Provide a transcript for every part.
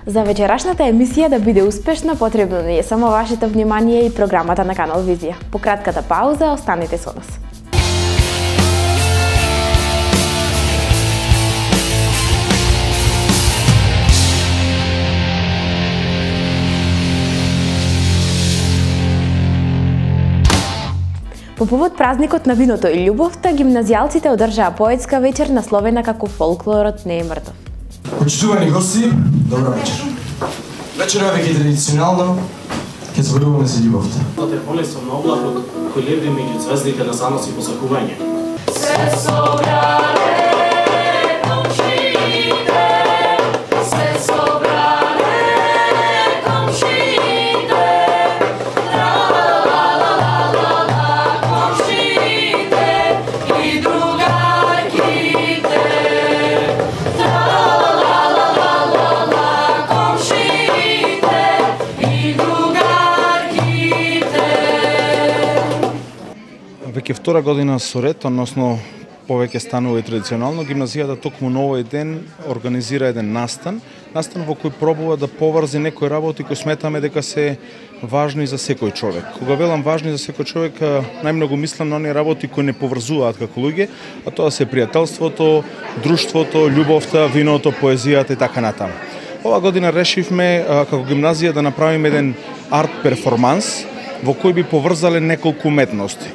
За вечерашната емисија да биде успешна, потребно не е само вашето внимание и програмата на Канал Визија. По кратката пауза, останете со нас. По повод празникот на виното и љубовта, гимназијалците одржаа поетска вечер насловена како "Фолклорот не е мртов". Почитувани гости, добра вечер. Вечерава веќе традиционално ќе зборуваме за љубовта. Тоа е болесно на облакот кој лебди меѓу звездите на занос и посакување. Се собрале комшиите, се собрале комшиите, тра-ла-ла-ла-ла-ла, комшиите и другарките, тра-ла-ла-ла-ла-ла, комшиите и другарките. Веќе втора година со ред, односно повеќе станува и традиционално, гимназијата токму на овој ден организира еден настан во кој пробува да поврзе некои работи кои сметаме дека се важни за секој човек. Кога велам важни за секој човек, најмногу мислам на оние работи кои не поврзуваат како луѓе, а тоа се пријателството, друштвото, љубовта, виното, поезијата и така натаму. Ова година решивме како гимназија да направиме еден арт перформанс во кој би поврзале неколку уметности.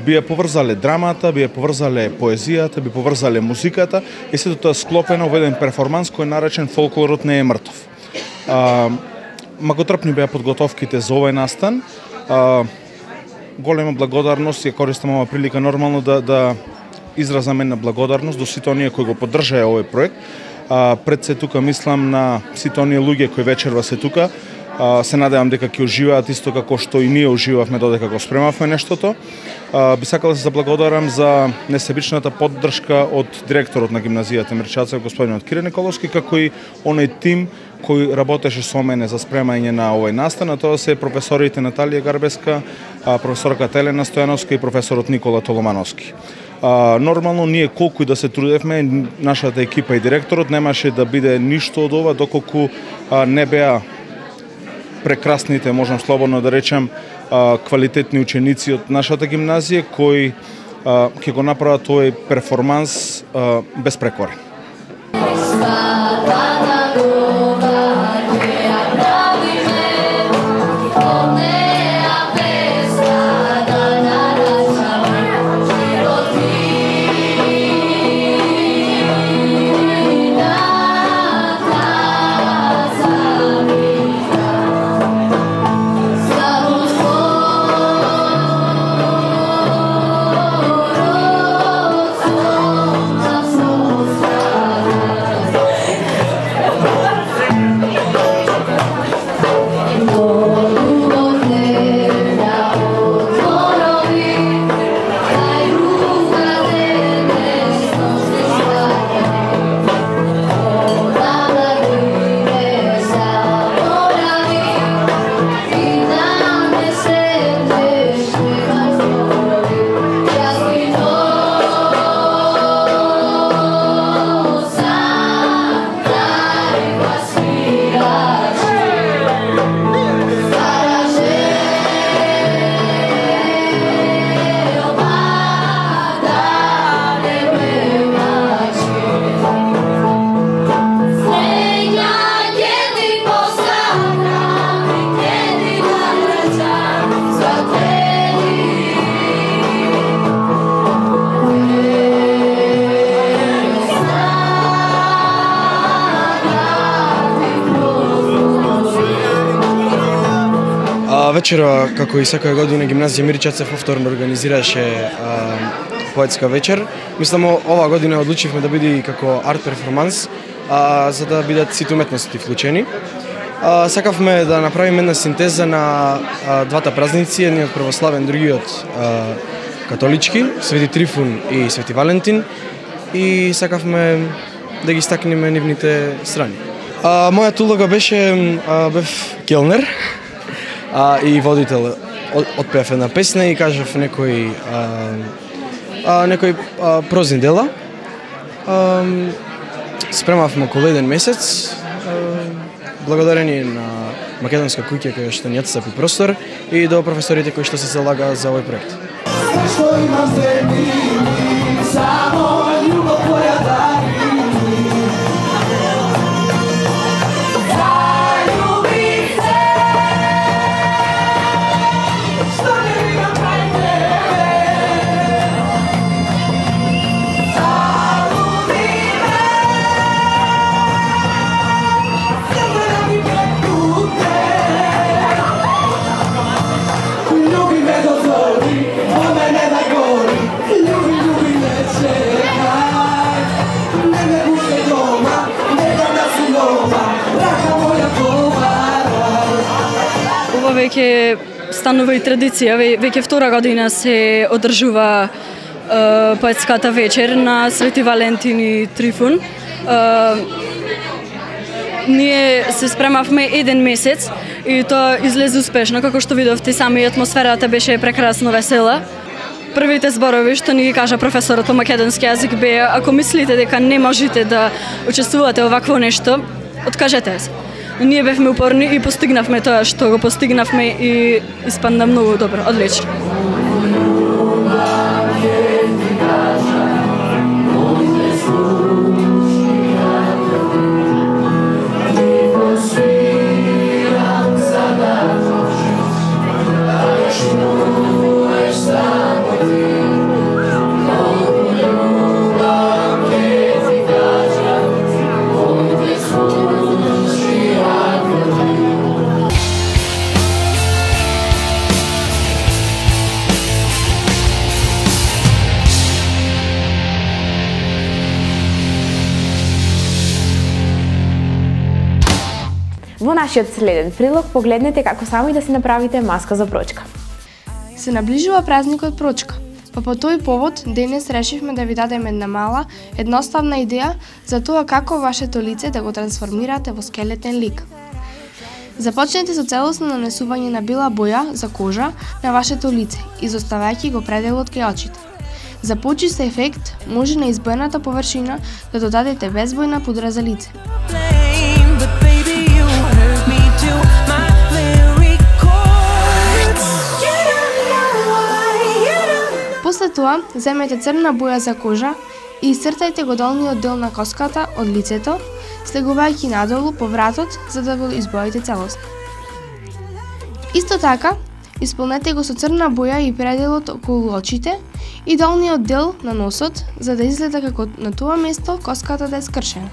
Би ја поврзале драмата, би ја поврзале поезијата, би поврзале музиката и сето тоа склопено во еден перформанс кој е наречен "Фолклорот не е мртов". Многотрпни беа подготовките за овој настан. Голема благодарност, ја користам оваа прилика нормално да изразам една благодарност до сите оние кои го поддржаа овој проект. Пред се тука мислам на сите оние луѓе кои вечерва се тука. Се надевам дека ќе уживаат исто како што и ние уживавме додека го спремавме нештото. Би сакал да се заблагодарам за несебичната поддршка од директорот на гимназијата Мирчацев, господинот Кире Николовски, како и оној тим кој работеше со мене за спремање на овој настан, а тоа се професорите Наталија Гарбеска, професорката Елена Стојановска и професорот Никола Толомановски. Нормално ние колку и да се трудевме, нашата екипа и директорот немаше да биде ништо од ова доколку не беа прекрасните, можам слободно да речем, квалитетни ученици од нашата гимназија кои ќе го направат овој перформанс безпрекорен. Вечера, како и секоја година, гимназија Мирчацев повторно организираше поетска вечер. Мислам, оваа година одлучивме да биде како арт перформанс, за да бидат сите уметности вклучени. Сакавме да направиме една синтеза на двата празници, едниот православен, другиот католички, Свети Трифун и Свети Валентин, и сакавме да ги стакнеме нивните страни. Мојата улога беше, бев келнер и водител. Отпеав една песна и кажав некои прозни дела. Спремавме околу еден месец, благодарение на Македонска куќа која што ни отстапи простор и до професорите кои што се залага за овој проект. Веќе станува и традиција, веќе втора година се одржува поетската вечер на Свети Валентин и Трифун. Ние се спремавме еден месец и тоа излезе успешно, како што видовте сами, атмосферата беше прекрасно весела. Првите зборови што ни ги кажа професорот по македонски јазик беа: ако мислите дека не можете да учествувате овакво нешто, откажете се. Ние бевме упорни и постигнавме тоа што го постигнавме и испадна многу добро, одлично. Во нашиот следен прилог погледнете како сами да си направите маска за прочка. Се наближува празникот Прочка, па по тој повод денес решивме да ви дадеме една мала, едноставна идеја за тоа како вашето лице да го трансформирате во скелетен лик. Започнете со целосно нанесување на бела боја за кожа на вашето лице, изоставајќи го пределот кај очите. За почист ефект може на избојната површина да додадете безбојна пудра за лице. После тоа, земете црна боја за кожа и исцртајте го долниот дел на коската од лицето, слегувајќи надолу по вратот за да го избоите целосно. Исто така, исполнете го со црна боја и пределот околу очите и долниот дел на носот, за да изгледа како на тоа место коската да е скршена.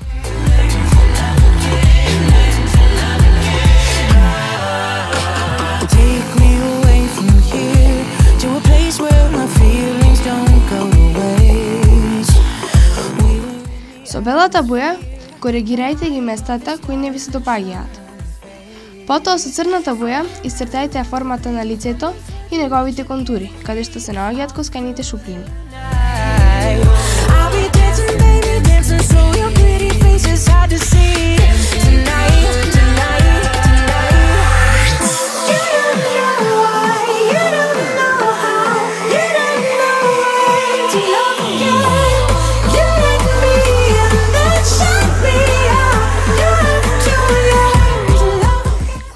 Со белата боја коригирајте ги местата кои не ви се допаѓаат. Потоа со црната боја исцртајте формата на лицето и неговите контури, каде што се наоѓаат косканите шуприни.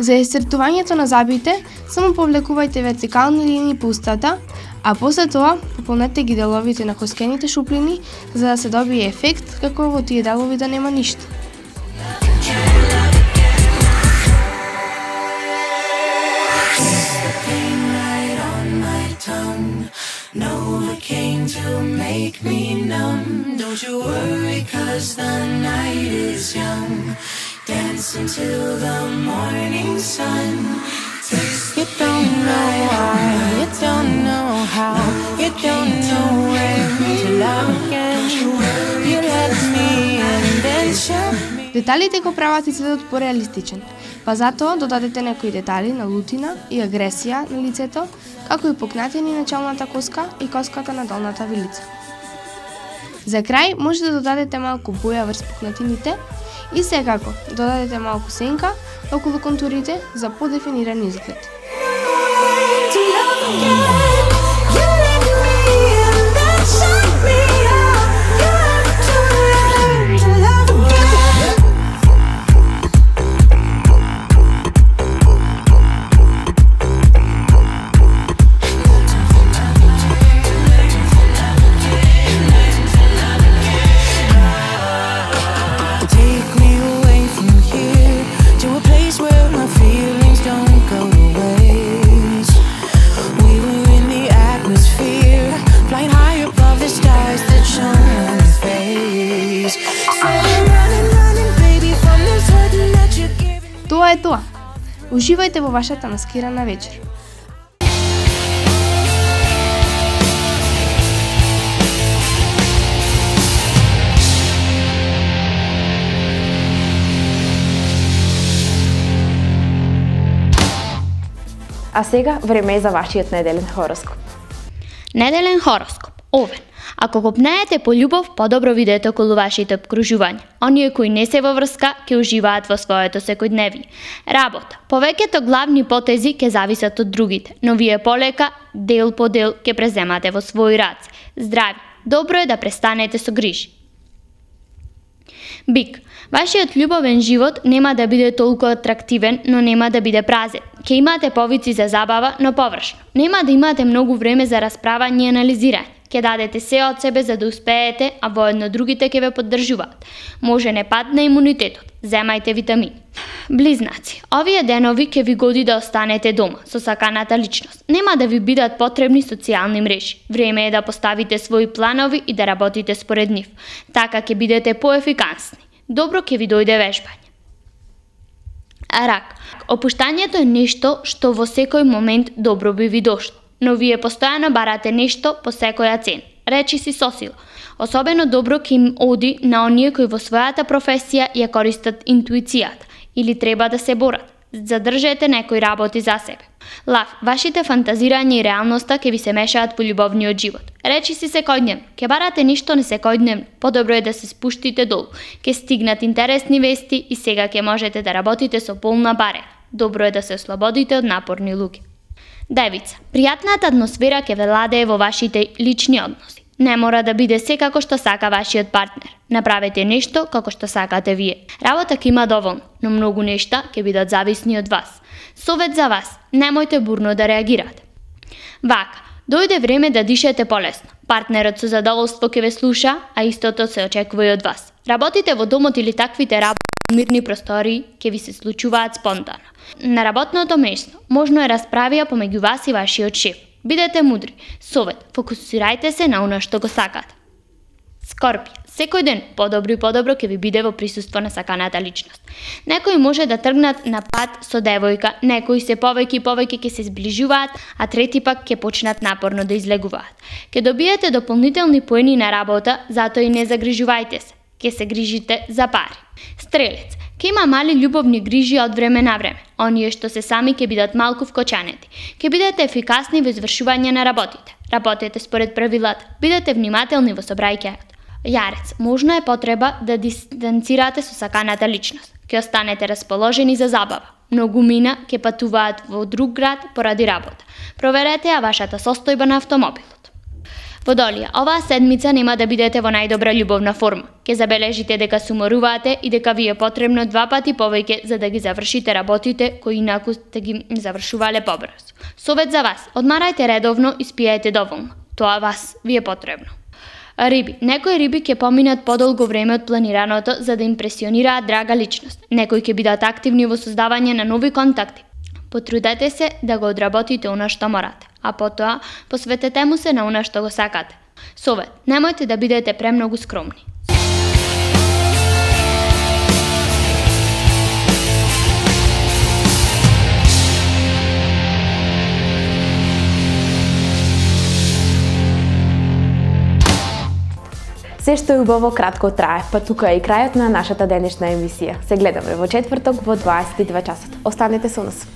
За исцртувањето на зъбите, само повлекувајте вертикални линии по устата, а после тоа пополнете ги деловите на коскените шуплини за да се добие ефект како во тие делови да нема ништо. Dance until the morning sun. You don't know why, you don't know how, you don't know when to love again. You let me and then show me. Деталите го прават изгледот пореалистичен, па затоа додадете некои детали на лутина и агресија на лицето, како и пукнатини на челната коска и коската на долната вилица. За крај може да додадете малку боја врз пукнатините и секако додадете малку сенка околу контурите за подефиниран изглед. Тоа е тоа. Уживајте во вашата маскирана вечер. А сега време е за вашиот неделен хороскоп. Неделен хороскоп. Овен. Ако копнеете по љубов, подобро видете околу вашите обкружувања. Оние кои не се во врска, ќе уживаат во своето секојдневие. Работа. Повеќето главни потези ќе зависат од другите, но вие полека, дел по дел, ќе преземате во своји раце. Здрави. Добро е да престанете со грижи. Бик. Вашиот љубовен живот нема да биде толку атрактивен, но нема да биде празен. Ќе имате повици за забава, но површно. Нема да имате многу време за расправање и анализирање. Ќе дадете се од себе за да успеете, а воедно другите ќе ве поддржуваат. Може не падне имунитетот. Земајте витамини. Близнаци. Овие денови ќе ви годи да останете дома со саканата личност. Нема да ви бидат потребни социјални мрежи. Време е да поставите своји планови и да работите според нив. Така ќе бидете поефикасни. Добро ќе ви дојде вежбање. Рак. Опуштањето е нешто што во секој момент добро би ви дошло, но вие постојано барате нешто по секоја цена. Речи си со сила. Особено добро ќе им оди на оние кои во својата професија ја користат интуицијата или треба да се борат. Задржете некои работи за себе. Лав, вашите фантазирања и реалноста ќе ви се мешаат во љубовниот живот. Речи си секојдневно, ќе барате ништо не секојдневно, подобро е да се спуштите долу. Ќе стигнат интересни вести и сега ќе можете да работите со полна баре. Добро е да се ослободите од напорни луѓе. Девица, пријатната атмосфера ќе владее во вашите лични односи. Не мора да биде се како што сака вашиот партнер. Направете нешто како што сакате вие. Работа ќе има доволно, но многу нешта ќе бидат зависни од вас. Совет за вас, немојте бурно да реагирате. Вака, дојде време да дишете полесно. Партнерот со задоволство ќе ве слуша, а истото се очекува и од вас. Работите во домот или таквите работи во мирни простории ќе ви се случуваат спонтано. На работното место можно е расправија помеѓу вас и вашиот шеф. Бидете мудри. Совет, фокусирајте се на она што го сакате. Скорпија, секој ден подобро и подобро ќе ви биде во присуство на саканата личност. Некои може да тргнат на пат со девојка, некои се повеќе и повеќе ќе се зближуваат, а трети пак ќе почнат напорно да излегуваат. Ќе добиете дополнителни поени на работа, затоа и не загрижувајте се. Ќе се грижите за пари. Стрелец, ќе има мали љубовни грижи од време на време. Оние што се сами ќе бидат малку вкочанети. Ќе бидете ефикасни во извршување на работите. Работете според правилата. Бидете внимателни во собрајќајот. Јарец, можно е потреба да дистанцирате со саканата личност. Ќе останете расположени за забава. Многу мина ќе патуваат во друг град поради работа. Проверете ја вашата состојба на автомобилот. Водолија, оваа седмица нема да бидете во најдобра љубовна форма. Ќе забележите дека се уморувате и дека ви е потребно 2 пати повеќе за да ги завршите работите кои инаку сте ги завршувале побрзо. Совет за вас, одмарајте редовно и спијајте доволно. Тоа вас ви е потребно. Риби. Некои риби ќе поминат подолго време од планираното за да импресионираат драга личност. Некои ќе бидат активни во создавање на нови контакти. Потрудете се да го одработите она што морате, а потоа посветете му се на она што го сакате. Совет, немојте да бидете премногу скромни. Се што е убаво кратко трае, па тука е и крајот на нашата денешна емисија. Се гледаме во четврток во 22 часот. Останете со нас.